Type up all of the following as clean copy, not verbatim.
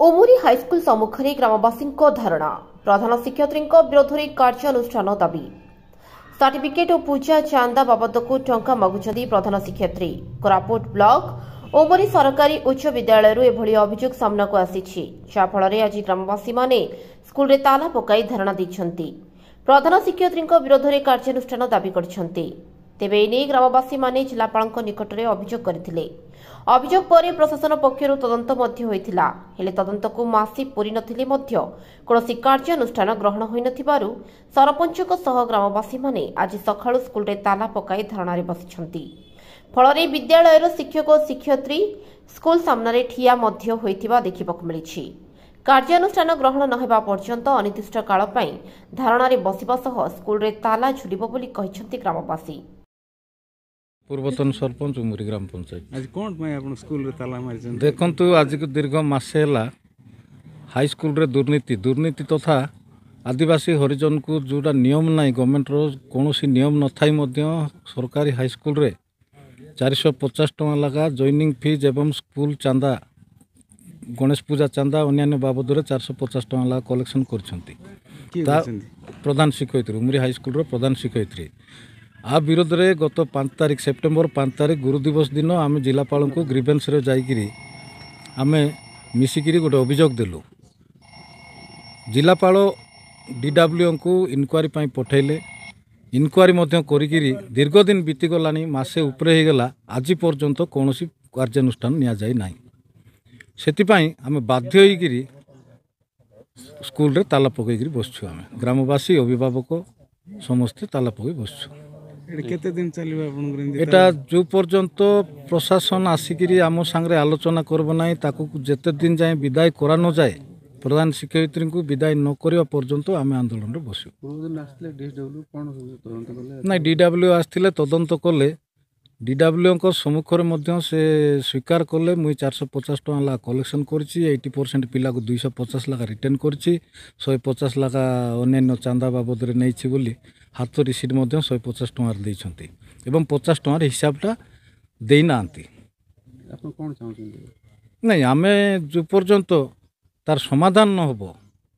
Umuri high school ସମ୍ମୁଖରେ ଗ୍ରାମବାସୀଙ୍କ ଧାରଣା। ପ୍ରଧାନ ଶିକ୍ଷୟିତ୍ରୀଙ୍କ ବିରୋଧରେ କାର୍ଯ୍ୟାନୁଷ୍ଠାନ ଦାବି। ସାର୍ଟିଫିକେଟ୍ ଓ ପୂଜା ଚାନ୍ଦା ବାବଦକୁ ଟଙ୍କା ମାଗୁଛନ୍ତି ପ୍ରଧାନ ଶିକ୍ଷୟିତ୍ରୀ। କୋରାପୁଟ ବ୍ଲକ ଉମୁରି ସରକାରୀ ଉଚ୍ଚ ବିଦ୍ୟାଳୟରୁ ଏଭଳି ଅଭିଯୋଗ ସାମ୍ନାକୁ ଆସିଛି, ଯାହାଫଳରେ ଆଜି ଗ୍ରାମବାସୀମାନେ ସ୍କୁଲରେ ତାଲା ପକାଇ ଧାରଣା ଦେଇଛନ୍ତି। ପ୍ରଧାନ ଶିକ୍ଷୟିତ୍ରୀଙ୍କ ବିରୋଧରେ କାର୍ଯ୍ୟାନୁଷ୍ଠାନ ଦାବି କରିଛନ୍ତି। ତେବେ ଏନେଇ ଗ୍ରାମବାସୀମାନେ ଜିଲ୍ଲାପାଳଙ୍କ ନିକଟରେ ଅଭିଯୋଗ କରିଥିଲେ। ଅଭିଯୋଗ ପରେ ପ୍ରଶାସନ ପକ୍ଷରୁ ତଦନ୍ତ ମଧ୍ୟ ହୋଇଥିଲା। ହେଲେ ତଦନ୍ତକୁ ମାସେ ପୂରି ନଥିଲେ ମଧ୍ୟ କୌଣସି କାର୍ଯ୍ୟାନୁଷ୍ଠାନ ଗ୍ରହଣ ହୋଇନଥିବାରୁ ସରପଞ୍ଚଙ୍କ ସହ ଗ୍ରାମବାସୀମାନେ ଆଜି ସକାଳୁ ସ୍କୁଲରେ ତାଲା ପକାଇ ଧାରଣାରେ ବସିଛନ୍ତି। ଫଳରେ ବିଦ୍ୟାଳୟର ଶିକ୍ଷକ ଓ ଶିକ୍ଷୟିତ୍ରୀ ସ୍କୁଲ ସାମ୍ନାରେ ଠିଆ ମଧ୍ୟ ହୋଇଥିବା ଦେଖିବାକୁ ମିଳିଛି। କାର୍ଯ୍ୟାନୁଷ୍ଠାନ ଗ୍ରହଣ ନ ହେବା ପର୍ଯ୍ୟନ୍ତ ଅନିର୍ଦ୍ଦିଷ୍ଟ କାଳ ପାଇଁ ଧାରଣାରେ ବସିବା ସହ ସ୍କୁଲରେ ତାଲା ଝୁଲିବ ବୋଲି କହିଛନ୍ତି ଗ୍ରାମବାସୀ। ପୂର୍ବତନ ସରପଞ୍ଚ, ଉମୁରି ଗ୍ରାମ ପଞ୍ଚାୟତ। ଆଜି କ'ଣ ପାଇଁ ଆପଣ ସ୍କୁଲରେ ତାଲା ମାରିଛନ୍ତି? ଦେଖନ୍ତୁ, ଆଜିକୁ ଦୀର୍ଘ ମାସେ ହେଲା ହାଇସ୍କୁଲରେ ଦୁର୍ନୀତି ତଥା ଆଦିବାସୀ ହରିଜନକୁ ଯେଉଁଟା ନିୟମ ନାହିଁ, ଗଭର୍ଣ୍ଣମେଣ୍ଟର କୌଣସି ନିୟମ ନଥାଇ ମଧ୍ୟ ସରକାରୀ ହାଇସ୍କୁଲରେ 450 ଟଙ୍କା ଲେଖା ଜଏନିଂ ଫିଜ୍ ଏବଂ ସ୍କୁଲ ଚାନ୍ଦା, ଗଣେଶ ପୂଜା ଚାନ୍ଦା, ଅନ୍ୟାନ୍ୟ ବାବଦରେ 450 ଟଙ୍କା ଲେଖା କଲେକ୍ସନ୍ କରିଛନ୍ତି। କିଏ ତା କରିଛନ୍ତି? ପ୍ରଧାନ ଶିକ୍ଷୟିତ୍ରୀ, ଉମୁରି ହାଇସ୍କୁଲର ପ୍ରଧାନ ଶିକ୍ଷୟିତ୍ରୀ। ଆ ବିରୋଧରେ ଗତ 5 ତାରିଖ, ସେପ୍ଟେମ୍ବର 5 ତାରିଖ ଗୁରୁ ଦିବସ ଦିନ ଆମେ ଜିଲ୍ଲାପାଳଙ୍କୁ ଗ୍ରିଭେନ୍ସରେ ଯାଇକିରି ଆମେ ମିଶିକିରି ଗୋଟେ ଅଭିଯୋଗ ଦେଲୁ। ଜିଲ୍ଲାପାଳ ଡିଡବ୍ଲ୍ୟୁଙ୍କୁ ଇନକ୍ୱାରି ପାଇଁ ପଠାଇଲେ। ଇନକ୍ୱାରି ମଧ୍ୟ କରିକିରି ଦୀର୍ଘ ଦିନ ବିତିଗଲାଣି, ମାସେ ଉପରେ ହେଇଗଲା, ଆଜି ପର୍ଯ୍ୟନ୍ତ କୌଣସି କାର୍ଯ୍ୟାନୁଷ୍ଠାନ ନିଆଯାଇ ନାହିଁ। ସେଥିପାଇଁ ଆମେ ବାଧ୍ୟ ହେଇକିରି ସ୍କୁଲରେ ତାଲା ପକାଇକିରି ବସିଛୁ। ଆମେ ଗ୍ରାମବାସୀ, ଅଭିଭାବକ ସମସ୍ତେ ତାଲା ପକାଇ ବସିଛୁ। ଏଠି କେତେ ଦିନ ଚାଲିବ ଆପଣଙ୍କର ଏମିତି? ଏଇଟା ଯେଉଁ ପର୍ଯ୍ୟନ୍ତ ପ୍ରଶାସନ ଆସିକିରି ଆମ ସାଙ୍ଗରେ ଆଲୋଚନା କରିବ ନାହିଁ, ତାକୁ ଯେତେ ଦିନ ଯାଏଁ ବିଦାୟ କରା ନଯାଏ, ପ୍ରଧାନ ଶିକ୍ଷୟିତ୍ରୀଙ୍କୁ ବିଦାୟ ନ କରିବା ପର୍ଯ୍ୟନ୍ତ ଆମେ ଆନ୍ଦୋଳନରେ ବସିବୁ। ପୂର୍ବଦିନ ଆସିଥିଲେ ଡିଏସଡବ୍ଲ୍ୟୁ, କ'ଣ ସବୁ ତଦନ୍ତ କଲେ? ନାଇଁ, ଡିଡବ୍ଲ୍ୟୁ ଆସିଥିଲେ, ତଦନ୍ତ କଲେ। ଡିଡବ୍ଲ୍ୟୁଙ୍କ ସମ୍ମୁଖରେ ମଧ୍ୟ ସେ ସ୍ୱୀକାର କଲେ, ମୁଇଁ 450 ଟଙ୍କା ଲେଖା କଲେକ୍ସନ୍ କରିଛି, 80% ପିଲାକୁ 250 ଲେଖା ରିଟର୍ଣ୍ଣ କରିଛି, 150 ଲେଖା ଅନ୍ୟାନ୍ୟ ଚାନ୍ଦା ବାବଦରେ ନେଇଛି ବୋଲି ହାତ ରିସିଟ୍ ମଧ୍ୟ 150 ଟଙ୍କାରେ ଦେଇଛନ୍ତି ଏବଂ 50 ଟଙ୍କାର ହିସାବଟା ଦେଇନାହାନ୍ତି। ଆପଣ କ'ଣ ଚାହୁଁଛନ୍ତି? ନାଇଁ, ଆମେ ଯେଉଁ ପର୍ଯ୍ୟନ୍ତ ତାର ସମାଧାନ ନ ହେବ,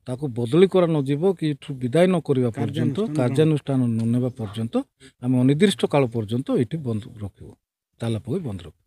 ତାକୁ ବଦଳି କରା ନଯିବ କି ଏଠୁ ବିଦାୟ ନ କରିବା ପର୍ଯ୍ୟନ୍ତ, କାର୍ଯ୍ୟାନୁଷ୍ଠାନ ନ ନେବା ପର୍ଯ୍ୟନ୍ତ ଆମେ ଅନିର୍ଦ୍ଦିଷ୍ଟ କାଳ ପର୍ଯ୍ୟନ୍ତ ଏଇଠି ବନ୍ଦ ରଖିବୁ, ତାଲା ପକାଇ ବନ୍ଦ ରଖିବୁ।